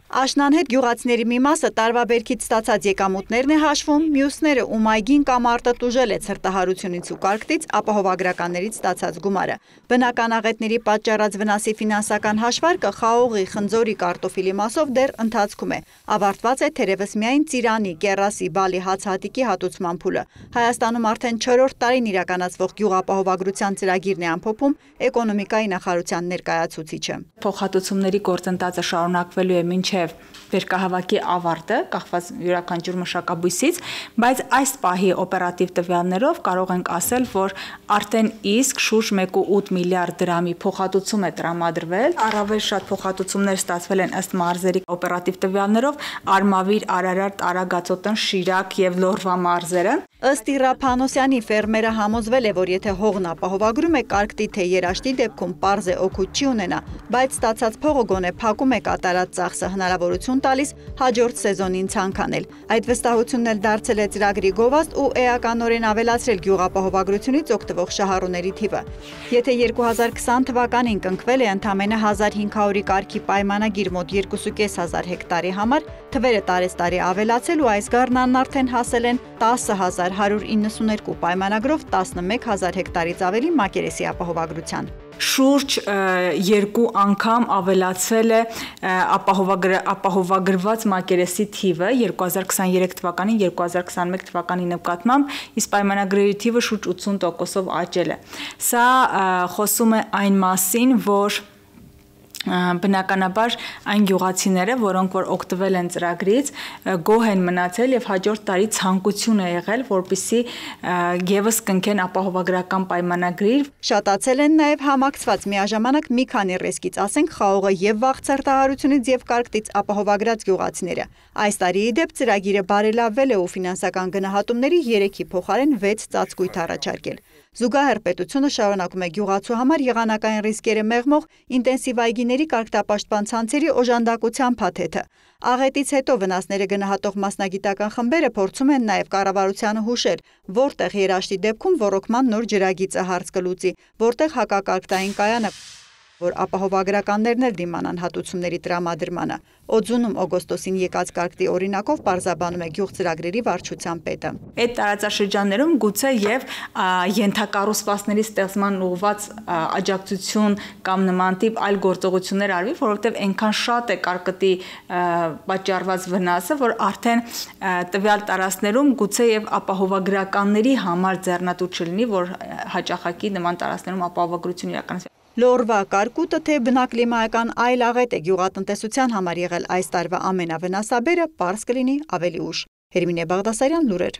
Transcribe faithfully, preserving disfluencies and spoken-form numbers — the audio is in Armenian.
Աշնան հետ գյուղացիների մի մասը տարվա բերքից ստացած եկամուտներն է հաշվում, մյուսները, ում այգին կամ արտը տուժել է ցրտահարությունից ու կարկտից, ապահովագրականներից ստացած գումարը։ Բնական աղետների պատճառած վնասի ֆինանսական հաշվարկը խաղողի, խնձորի, կարտոֆիլի մասով դեռ ընթացքում է։ Ավարտված է թերևս միայն ծիրանի, կեռասի, բալի, հացահատիկի հատուցման փուլը։ Հայաստանում արդեն չորրորդ տարին իրականացվող գյուղապահովագրության ծրագիրն է ամփոփում էկոնոմիկայի նախարարության ներկայացուցիչը։ Փոխհատուցումների գործընթացը շարունակվելու է մինչև վերկահավաքի ավարտը, կախված յուրաքանչյուր մշակաբույսից, բայց այս պահի օպերատիվ տվյալներով կարող ենք ասել, որ արդեն իսկ շուրջ մեկ կόμμα ութ միլիարդ դրամի փոխհատուցում է տրամադրվել։ Առավել շատ փոխհատուցումներ ստացվել են ըստ մարզերի օպերատիվ տվյալներով Արմավիր, Արարատ, Արագածոտնի, Շիրակ եւ Լոռվա մարզերը։ Ըստ Իռա Փանոսյանի ֆերմերը համոզվել է, որ եթե հողն ապահովագրում է կարկտի թե երաշտի դեպքում պարզ է օգուտ չի ունենա, բայց ստացած փողը գոնե փակում է կատարած ծախսը հնարավորություն տալիս հաջորդ սեզոնին ցանկանել։ Այդ վստահությունն էլ դարձել է ծրագրի գովազդ ու էականորեն ավելացրել գյուղապահովագրությունից օգտվող շահառուների թիվը։ Եթե երկու հազար քսան թվականին կնքվել է ընդամենը հազար հինգ հարյուրի կարգի պայմանագիր մոտ երկու կես հազար հեկտարի համար, թվերը տարեստարի ավելացել ու այս գարնանն արդեն հասել են տասը հազար հարյուր իննսունհինգ պայմանագրով տասնմեկ հազար հեկտարից ավելի մակերեսի ապահովագրության։ Շուրջ երկու անգամ ավելացել է ապահովագրված մակերեսի թիվը երկու հազար քսաներեք թվականին երկու հազար քսաներեք թվականի նկատմամբ, իսկ պայմանագրերի թիվը շուրջ ութսուն տոկոսով աճել է։ Սա խոսում է այն մասին, որ բնականաբար այն գյուղացիները, որոնք որ օգտվել են ծրագրից, գոհ են մնացել եւ հաջորդ տարի ցանկություն է եղել, որպեսզի եւս կնքեն ապահովագրական պայմանագրի։ Շատացել են նաեւ համակցված միաժամանակ մի քանի ռիսկից, ասենք խաղողը եւ վաղ ցրտահարությունից եւ կարկտից ապահովագրած գյուղացիները։ Այս տարի ի դեպ ծրագիրը բարելավվել է ու ֆինանսական գնահատումների երեքի փոխարեն վեց ծածկույթ առաջարկել։ Զուգահեռ պետությունը շարունակում է գյուղացու համար եղանակային ռիսկերը մեղմող ինտենսիվ այգիների կարգապաշտպան ցանցերի օժանդակության փաթեթը։ Աղետից հետո վնասները գնահատող մասնագիտական խմբերը փորձում են նաև կառավարությանը հուշել, որտեղ երաշտի դեպքում ոռոգման նոր ջրագիծը հարց կլուծի, որտեղ հակակարգտային կայանը, որ ապահովագրականներն էլ դիմանան հատուցումների տրամադրմանը։ Օձունում օգոստոսին եկած կարկտի օրինակով պարզաբանում է գյուղ ծրագրերի վարչության պետը։ Այդ տարածաշրջաններում գուցե եւ ենթակառուցվածքների ստեղծման ուղղված աջակցություն կամ նման տիպ այլ գործողություններ արվի, որովհետեւ այնքան շատ է կարկտի պատճառված վնասը, որ արդեն տվյալ տարածքներում գուցե եւ ապահովագրականների համար ձեռնտու չլինի, որ հաճախակի նման տարածքներում ապահովագրություն իրականացվի։ Լոռվա կարկուտը թե բնակլիմայական այլ աղետ է գյուղատնտեսության համար եղել այս տարվա ամենավնասաբերը, պարզ կլինի ավելի ուշ։ Հերմինե Բաղդասարյան, լուրեր։